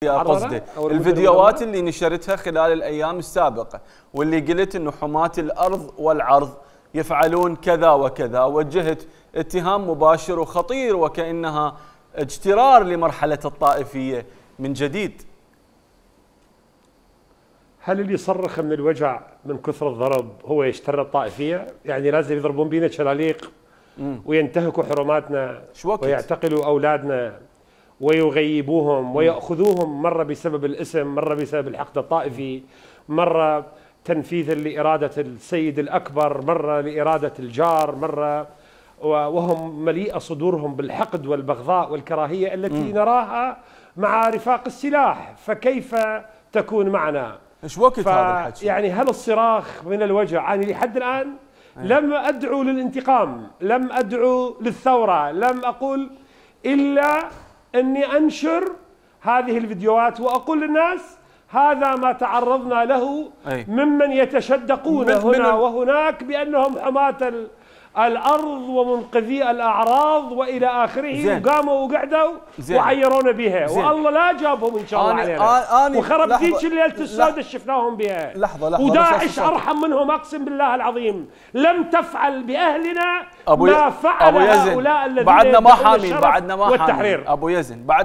قصدي الفيديوهات اللي نشرتها خلال الأيام السابقة واللي قلت أنه حماة الأرض والعرض يفعلون كذا وكذا، وجهت اتهام مباشر وخطير وكأنها اجترار لمرحلة الطائفية من جديد. هل اللي يصرخ من الوجع من كثر الضرب هو يجتر الطائفية؟ يعني لازم يضربون بينا شلاليق وينتهكوا حرماتنا ويعتقلوا أولادنا ويغيبوهم ويأخذوهم مرة بسبب الاسم، مرة بسبب الحقد الطائفي، مرة تنفيذا لإرادة السيد الأكبر، مرة لإرادة الجار، مرة وهم مليئة صدورهم بالحقد والبغضاء والكراهية التي نراها مع رفاق السلاح، فكيف تكون معنا؟ ايش وقت هذا الحكي؟ يعني هل الصراخ من الوجع؟ أنا لحد الآن لم أدعو للانتقام، لم أدعو للثورة، لم أقول إلا أني أنشر هذه الفيديوهات وأقول للناس هذا ما تعرضنا له ممن يتشدقون هنا وهناك بأنهم حماة الأرض ومنقذي الأعراض وإلى آخره، وقاموا وقعدوا وعيرونا بها، والله لا جابهم إن شاء الله علينا، وخرب ذيك الليلة السوداء شفناهم بها. لحظة وداعش أرحم منهم أقسم بالله العظيم، لم تفعل بأهلنا ما فعل هؤلاء الذين بعدنا ما حامين، بعدنا ما حامين والتحرير. أبو يزن بعدنا